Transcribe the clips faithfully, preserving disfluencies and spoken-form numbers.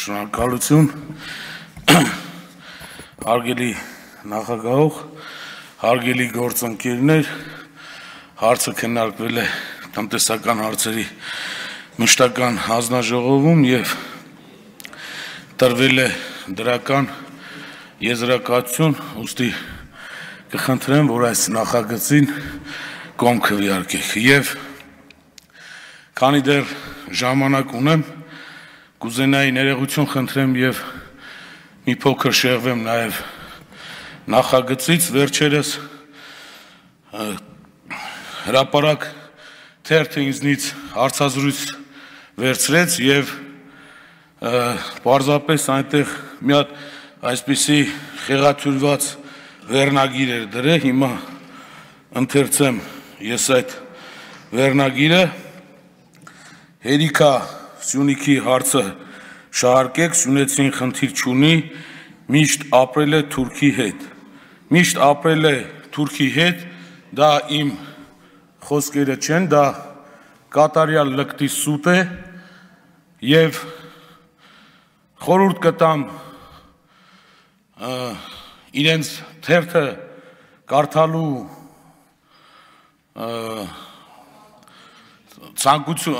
Շնորհակալություն, հարգելի նախագահող, հարգելի գործընկերներ, հարցը քննարկվել է տնտեսական հարցերի մշտական հանձնաժողովում և տրվել է դրական եզրակացություն, ուստի կխնդրեմ, որ այս նախագծին կողմ քվեարկեք և քանի դեռ ժամանակ ունեմ, կուզենայի ներողություն խնդրեմ և մի փոքր շեղվեմ նաև նախագծից, վերջերս հրապարակ թերթը ինձնից հարցազրույց վերցրեց և պարզապես այնտեղ մի հատ այսպիսի խեղաթյուրված վերնագիր էր դրել, հիմա ընթերցեմ ես այդ վերնագիրը, հերիք ա Սյունիքի հարցը շահարկեք, սյունեցին խնդիր չունի, միշտ ապրել է Թուրքի հետ, միշտ ապրել է Թուրքի հետ, դա իմ խոսքերը չեն, դա կատարյալ լկտի սուտ է և խորհուրդ կտամ իրենց թերթը կարդալու ցանկություն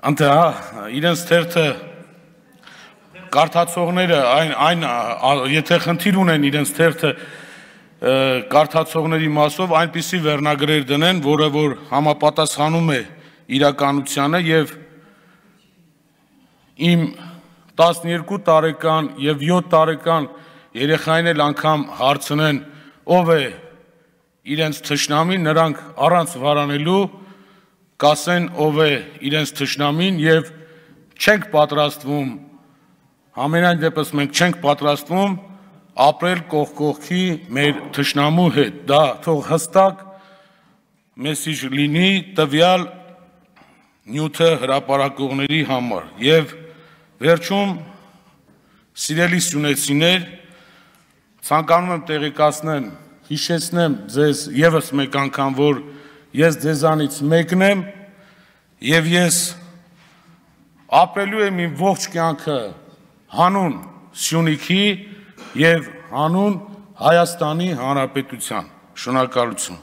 Անտե, իրենց թերթը կարդացողները, եթե խնդիր ունեն իրենց թերթը կարդացողների մասով, այնպիսի վերնագրեր դնեն, որը որ համապատասխանում է իրականությանը և իմ տասնյոթ տարեկան և յոթ տարեկան երեխային էլ անգամ հարցնեն, ով է իրենց թշնամին, նրանք առանց վարանելու կասեն ով է իրենց թշնամին և չենք պատրաստվում, համենայն դեպս մենք չենք պատրաստվում ապրել կողք կողքի մեր թշնամու հետ, դա թող հստակ մեսիջ լինի տվյալ նյութը հրապարակողների համար և վերջում սիրելի սյունեցիներ, ցանկանում եմ տեղեկացնեմ, հիշեցնեմ ձեզ ևս մեկ անգամ, որ ես ձեզանից մեկն եմ և ես ապրելու եմ իմ ողջ կյանքը հանուն Սյունիքի և հանուն Հայաստանի Հանրապետության, շնորհակալություն։